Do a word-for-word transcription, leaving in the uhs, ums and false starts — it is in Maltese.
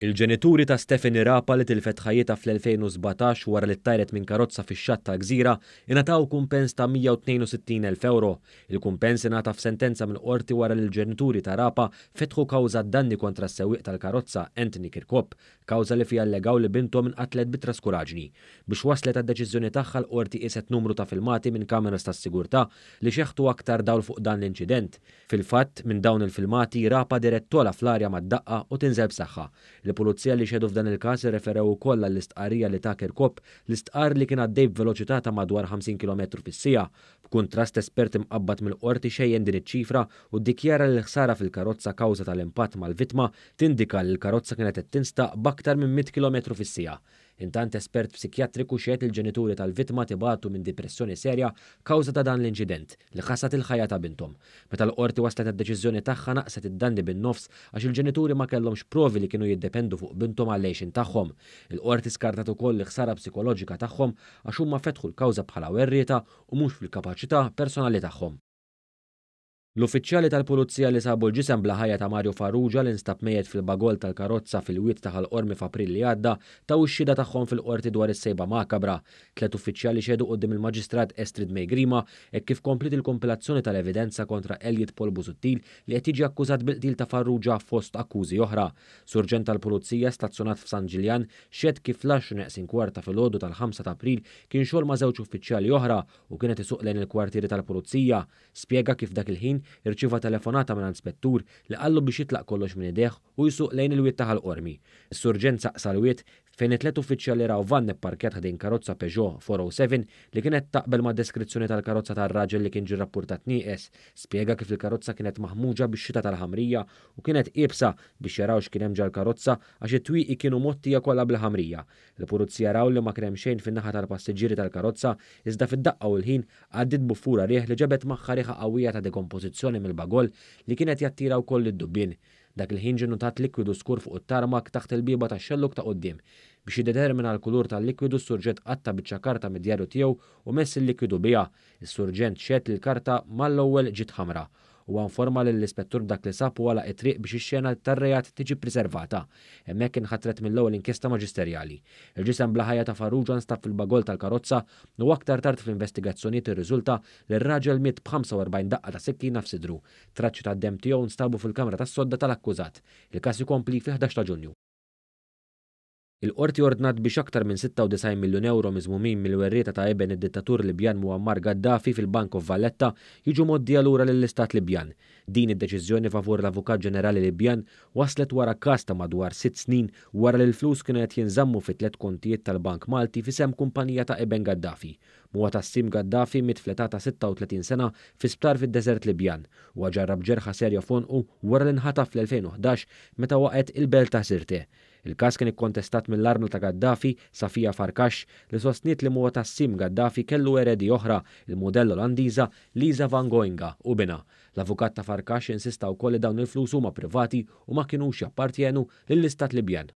Il-ġenituri ta' Stephanie Rapa, li tilfet ħajjitha fl-elfejn u sbatax wara li ttajret minn karozza fix-xatt tal-Gżira, ingħataw kumpens ta' mija u tnejn u sittin elf euro. Il-kumpens ingħata f'sentenza mill-qorti wara li l-ġenituri ta' Rapa fetħu kawża danni kontra s-sewwieq tal-karozza, Anthony Kirkop, kawża li fiha allegaw li binthom inqatlet bi traskuraġni. Biex waslet għad-deċiżjoni tagħha, l-qorti qiset numru ta' filmati minn kameras tas-sigurtà li xeħtu aktar dawl fuq dan l-inċident. Fil-fatt, minn dawn il-filmati, Rapa dehret togħla fl-arja mad-daqqa u tinżel b'saħħa. Il-pulizija li xehdu f'dan il-każ irreferew ukoll għall-istqarrija li ta Kirkop, li stqar li kien għaddej b'veloċità ta' madwar ħamsin kilometru fis-siegħa. B'kuntrast, espert imqabbad mill-qorti xejjen din iċ-ċifra u ddikjara li l-ħsara fil-karozza kawża tal-impatt mal-vittma tindika li l-karozza kienet qed tinstaq b'aktar minn mitt kilometru fis-siegħa. Intant, espert psikjatriku xehed il-ġenituri tal-vittma tibatu minn depressjoni serja kawża ta' dan l-inċident li ħasad il-ħajja ta' binthom. Meta l-qorti waslet għad-deċiżjoni tagħha, naqset id-danni bin-nofs għax il-ġenituri ma kellhomx provi li kienu jiddependu fuq binthom għall-għixien tagħhom. Il-qorti skartat ukoll l-ħsara psikoloġika tagħhom għax huma fetħu l-kawża bħala werrieta u mhux fil-kapaċità personali tagħhom. L-uffiċjali tal-Pulizija li sabu l-ġisem bla ħajja ta' Mario Farrugia, li nstab mejjet fil-bagol tal-karozza fil-wied ta' Ħal Qormi f'April li għadda, taw ix-xhieda tagħhom fil-qorti dwar is-sejba makabra. Tlet uffiċjali xehdu quddiem il-Maġistrat Estrid May Grima hekk kif kompliet il-kompilazzjoni tal-evidenza kontra Elliot Paul Busuttil, li qed jiġi akkużat bil-qtil ta' Farrugia fost akkużi oħra. Surġent tal-Pulizija stazzjonat f'San Ġiljan xehed kif fl-għaxra neqsin kwarta filgħodu tal-ħamsa ta' April kien xogħol ma' żewġ uffiċjali oħra u kienet isuq lejn il-kwartieri tal-Pulizija. Spjega kif dak il-ħin irċieva telefonata minn ispettur li qallu biex jitlaq kollox minn idejh u jsuq lejn il-wied ta' Ħal Qormi. Is-surġent saq sal-wied, fejn it-tlet uffiċjali raw van ipparkjat ħdejn karozza Peugeot tliet mija u sebgħa li kienet taqbel ma' deskrizzjoni tal-karozza tar-raġel li kien ġie rapportat nieqes. Spjega kif il-karozza kienet maħmuġa bix-xita tal-ħamrija u kienet iebsa biex jaraw x'kien hemm ġol-karozza għax it-twieqi kienu mgħottija kollha bil-ħamrija. Il-pulizija raw li ma kien hemm xejn fin-naħa tal-passiġġieri tal-karozza, iżda fid-daqqa u l-ħin għaddiet buffura riħ li ġabet magħha riħa qawwija ta' dekompożizzjoni mill-bagol li kienet jattira wkoll id-dubbien. Dak il-ħin ġie notat likwidu skur fuq it-tarmak taħt il-bieba tax-xellug ta' quddiem. Biex jiddetermina l-kulur tal-likwidu, s-surġent qatta' biċċa karta mid-djarju tiegħu u mess il-likwidu biha. Is-surġent xehed li l-karta mal-ewwel ġiet ħamra. Huwa informa lill-ispettur b'dak li sab u għalaq it-triq biex ix-xena tar-reat tiġi preservata. Hemmhekk inħatret mill-ewwel inkjesta maġisterjali. Il-ġisem bla ħajja ta' Farrugia nstab fil-bagol tal-karozza u aktar tard fl-investigazzjonijiet irriżulta li r-raġel miet b'ħamsa u erbgħin daqqa ta' sikkina f'sidru. Traċċi tad-dem tiegħu nstabu fil-kamra tas-sodda tal-akkużat. Il-każ ikompli fil-ħdax ta' Ġunju. Il-qorti ordnat biex aktar minn sitta u disgħin miljun euro miżmumin mill-werrieta ta' iben id-dittatur Libjan Muammar Gaddafi fil-Bank of Valletta jiġu mgħoddija lura lill-Istat Libjan. Din id-deċiżjoni favur l-Avukat Ġenerali Libjan waslet wara każ ta' madwar sitt snin wara li l-flus kienu qed jinżammu fi tliet kontijiet tal-Bank Malti f'isem kumpanija ta' iben Gaddafi. Muatassim Gaddafi miet fl-età ta' sitta u tletin sena fi sptar fid-deżert Libjan u ġarrab ġerħa serja f'għonqu wara li nħataf fl-elfejn u ħdax meta waqgħet il-belt ta' Sirte. Il-każ kien ikkontestat mill-armla ta' Gaddafi, Safia Farkash, li sostniet li Muatassim Gaddafi kellu eredi oħra, il-modell Olandiża Lisa van Goinga u binha. L-avukat ta' Farkash insista wkoll li dawn il-flus huma privati u ma kinux jappartjenu lill-Istat Libjan.